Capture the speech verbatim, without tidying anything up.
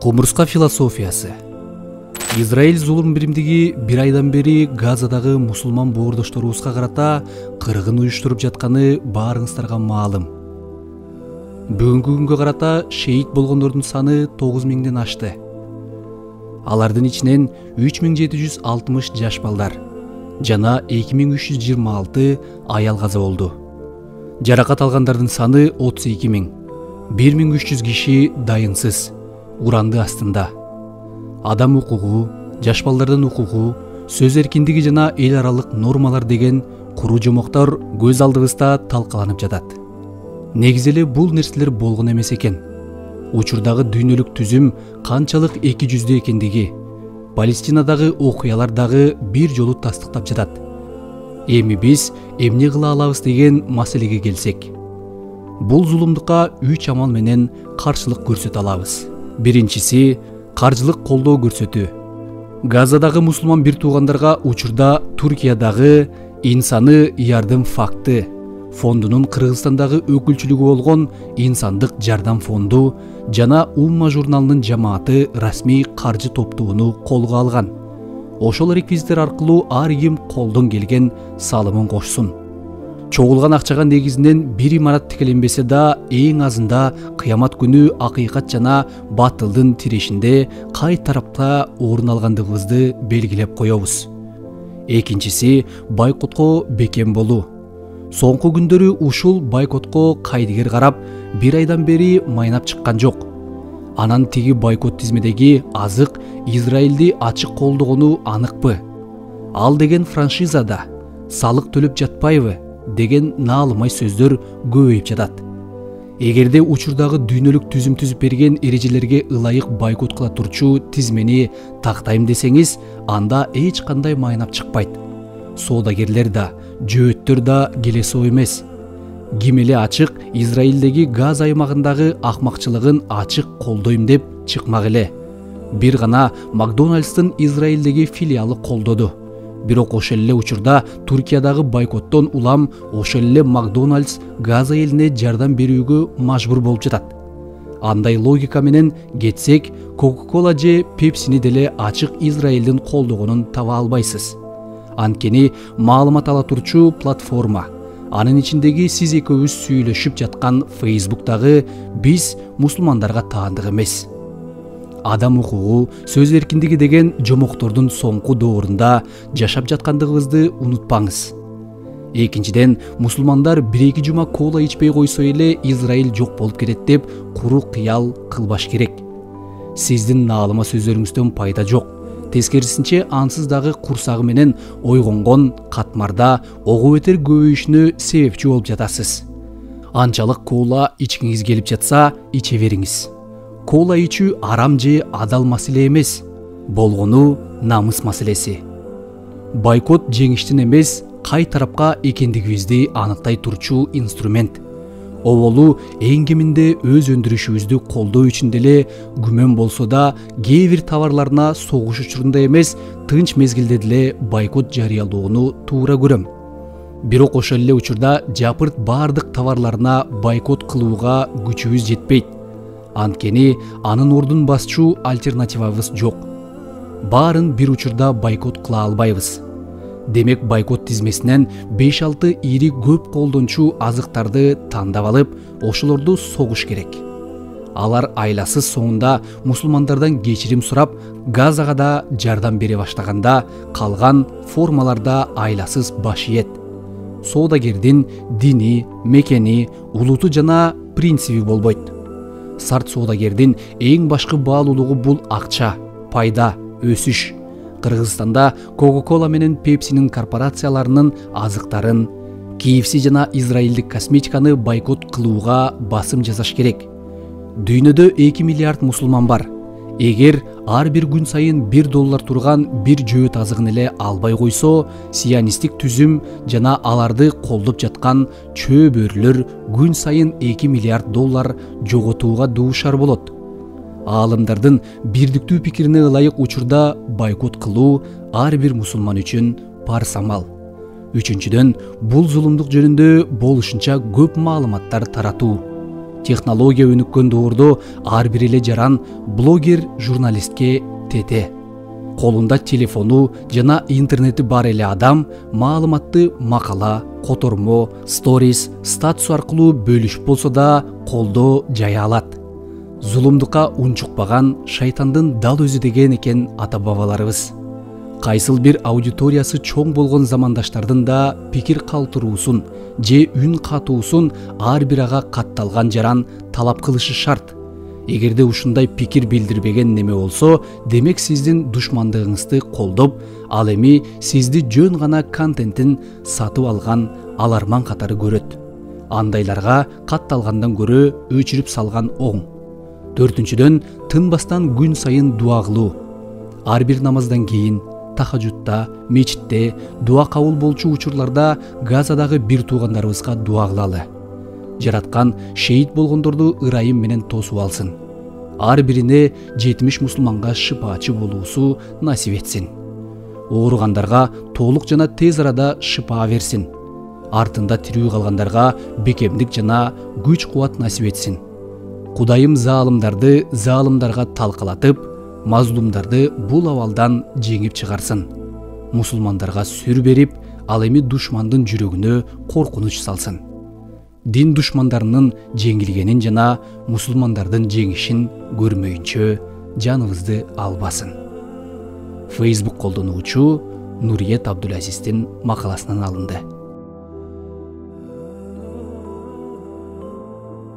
Кумурска философиясы. Израиль зулум биримдиги бир айдан бери Газадагы мусулман боордошторубузга карата кыргын уюштуруп жатканы баарыңыздарга маалым. Бүгүнкү күнгө карата шейит болгондордун саны тогуз миңден ашты. Алардын ичинен үч миң жети жүз алтымыш жаш балдар жана эки миң үч жүз жыйырма алты аял каза болду. Жаракат алгандардын саны отуз эки миң. бир миң үч жүз киши дайынсыз, уранды астында. Адам укугу, жаш балдардын укугу, сөз эркиндиги жана эл аралык нормалар деген куру жомоктор көз алдыбызда талкаланып жатат. Негизи эле бул нерселер болгон эмес экен. Учурдагы дүйнөлүк түзүм канчалык эки жүздүү экендиги, Палестинадагы окуялар дагы бир жолу тастыктап жатат. Эми биз эмне кыла алабыз деген маселеге келсек, бул зулумдукка үч амал менен каршылык көрсөтө алабыз. Биринчиси — каржылык колдоо көрсөтүү. Газадагы мусулман бир туугандарга учурда Туркиядагы Инсаны Ярдым факты фондунун Кыргызстандагы өкүлчүлүгү болгон Инсандык жардам фонду жана Умма журналынын жамааты расмий каржы топтоону колго алган. Ошол реквизиттер аркылуу ар ким колдон келген салымын кошсун. Чогулган акчага негизинен бир имарат тикеленбесе да, эң азында кыямат күнү акыйкат жана батылдын тирешинде кай тарапта орун алгандыгыбызды белгилеп коебуз. Экинчиси — байкотко бекем болуу. Соңку күндөрү ушул байкотко кайдыгер карап, бир айдан бери майнап чыккан жок. Анан тиги байкот тизмедеги азык Израилди ачык колдогону аныкпы? Ал деген франшизада салык төлөп жатпайбы деген наалымай сөздөр көбөйүп жатат. Эгерде учурдагы дүйнөлүк түзүм түзүп берген эрежелерге ылайык байкот кыла турчу тизмени тактайм десеңиз, анда эч кандай майнап чыкпайт. Соодагерлер да, жөөттөр да келесоо эмес. Ким эле ачык Израилдеги Газ аймагындагы акмакчылыгын ачык колдойм деп чыкмак эле. Бир гана Макдональдстын Израилдеги филиалы колдоду. Бирок ошол эле учурда Туркиядагы байкоттон улам ошол эле Макдональдс Газа элине жардам берүүгө мажбур болуп жатат. Андай логика менен кетсек, Coca-Cola же Pepsi'ни деле ачык Израилдин колдогонун таба албайсыз. Анткени маалымат ала турчу платформа, анын ичиндеги сиз экөөбүз сүйлөшүп жаткан Facebook'тагы биз мусулмандарга таандык эмес. Адам укугу, сөз эркиндиги деген жомоктордун соңку доорунда жашап жаткандыгыбызды унутпаңыз. Экинчиден, мусулмандар бир-эки жума кола ичпей койсо эле Израиль жок болуп кетет деп куру кыял кылбаш керек. Сиздин наалыма сөздөрүңүздөн пайда жок. Тескерисинче, ансыз дагы курсагы менен ойгонгон катмарда ого бетер көбөйүшүнө себепчи болуп жатасыз. Анчалык кола ичкиңиз келип жатса, иче бериңиз. Кола ичүү арам же адал маселе эмес, болгону намыс маселеси. Байкот жеңиштин эмес, кай тарапка экендигибизди аныктай турчу инструмент. Оболу эң кеминде өз өндүрүшүбүздү колдоо үчүн деле күмөн болсо да, кээ бир товарларына согуш учурунда эмес, тынч мезгилде деле байкот жарыялоону туура көрөм. Бирок ошол эле учурда жапырт баардык товарларына байкот кылууга күчүбүз жетпейт. Анткени анын ордун басчу альтернативабыз жок. Баарын бир учурда байкот кыла албайбыз. Демек байкот тизмесинен беш алты ири көп колдончу азыктарды тандап алып, ошолорду согуш керек. Алар айласыз соңунда мусулмандардан кечирим сурап, Газага да жардам бере баштаганда, калган формаларда айласыз баш ийет. Соодагердин дини, мекени, улуту жана принциби болбойт. Сарт соодагердин эң башкы баалуулугу бул акча, пайда, өсүш. Кыргызстанда Coca-Cola менен Pepsi'нин корпорацияларынын азыктарын, K F C жана израилдик косметиканы байкот кылууга басым жасаш керек. Дүйнөдө эки миллиард мусулман бар. Эгер ар бир күн сайын бир доллар турган бир жөөт азыгын эле албай койсо, сионисттик түзүм жана аларды колдоп жаткан чөбөрлөр күн сайын эки миллиард доллар жоготууга дуушар болот. Аалымдардын бирдиктүү пикирине ылайык учурда байкот кылуу ар бир мусулман үчүн парз амал. Үчүнчүдөн, бул зулумдук жөнүндө болушунча көп маалыматтар таратуу. Технология өнүккөн доордо ар бир эле жаран блогер, журналистке тете. Колунда телефону жана интернети бар эле адам маалыматты макала, котормо, сторис, статус аркылуу бөлүшүп болсо да колдо жая алат. Зулумдукка унчукпаган шайтандын дал өзү деген экен ата бабаларыбыз. Кайсыл бир аудиториясы чоң болгон замандаштардын да пикир калтыруусун же үн катуусун ар бир ага катталган жаран талап кылышы шарт. Эгерде ушундай пикир билдирбеген неме болсо, демек сиздин душмандыгыңызды колдоп, ал эми сизди жөн гана контентин сатып алган аларман катары көрөт. Андайларга катталгандан көрө өчүрүп салган оң. Төртүнчүдөн, тынбастан күн сайын дуа кылуу. Ар бир намаздан кийин, тахажутта, мечитте, дуа кабыл болчу учурларда Газадагы бир туугандарыбызга дуа кылалы. Жараткан шейит болгондорду ырайым менен тосуп алсын. Ар бирине жетимиш мусулманга шыпаачы болуусу насип этсин. Ооругандарга толук жана тез арада шыпа берсин. Артында тирүү калгандарга бекемдик жана күч кубат насип этсин. Кудайым заалымдарды заалымдарга талкалатып, мазлумдарды бул абалдан жеңип чыгарсын. Мусулмандарга сүр берип, ал эми душмандын жүрөгүнө коркунуч салсын. Дин душмандарынын жеңилгенин жана мусулмандардын жеңишин көрмөйүнчө жаныбызды албасын. Facebook колдонуучу Нуриет Абдулазиздин макаласынан алынды.